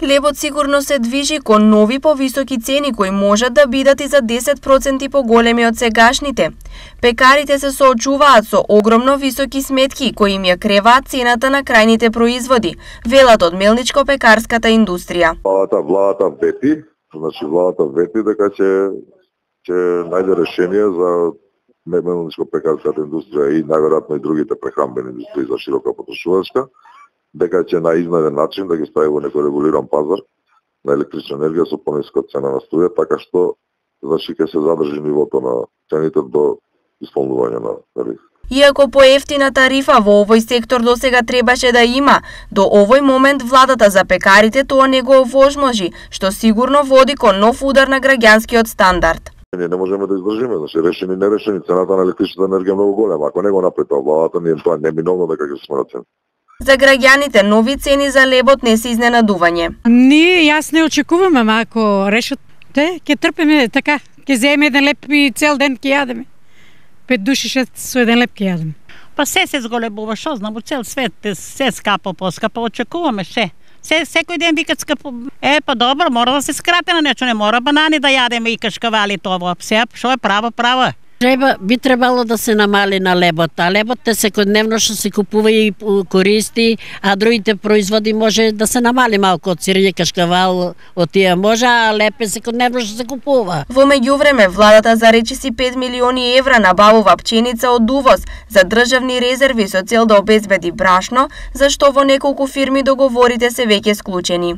Лебот сигурно се движи кон нови повисоки цени кои можат да бидат и за 10% поголеми од сегашните. Пекарите се соочуваат со огромно високи сметки кои им ја креваат цената на крајните производи, велат од мелничко-пекарската индустрија. Владата вети дека ќе најде решение за мелничко-пекарската индустрија и најверојатно и другите прехранбени индустрии за широка потрошувачка, дека ќе на изнаден начин да ги стави во некој регулиран пазар на електрична енергија со пониска цена на струја, така што ќе се задржи нивото на цените до исполнување на тарифа. Иако поевтина тарифа во овој сектор досега требаше да има, до овој момент владата за пекарите тоа не го овозможи, што сигурно води кон нов удар на граѓанскиот стандард. Ние не можеме да издржиме, решени нерешени, цената на електричната енергија е многу голема. Ако не го направи тоа владата, ние тоа неминовно дека ќе се смена цена. За граѓаните нови цени за лебот не се изненадување. Јас не очекувам, ама ако решат, ќе трпиме така, ќе земеме еден леп и цел ден ќе јадеме. 5 души со еден леп ќе јадеме. Па се зголебува, шо знам, у цел свет се скапо, поскапо, очекуваме се. Секој ден викат скапо. Па добро, мора да се скрати на нешто, не мора банани да јадеме и кашкавали тоа. Се, шо е право. Би требало да се намали на лебот, а лебот секојдневно што се купува и користи, а другите производи може да се намали малку од сирење, кашкавал, од тие може, а леб секојдневно што се купува. Во меѓувреме, владата за речиси 5 милиони евра набавува пченица од увоз за државни резерви со цел да обезбеди брашно, за што во неколку фирми договорите се веќе склучени.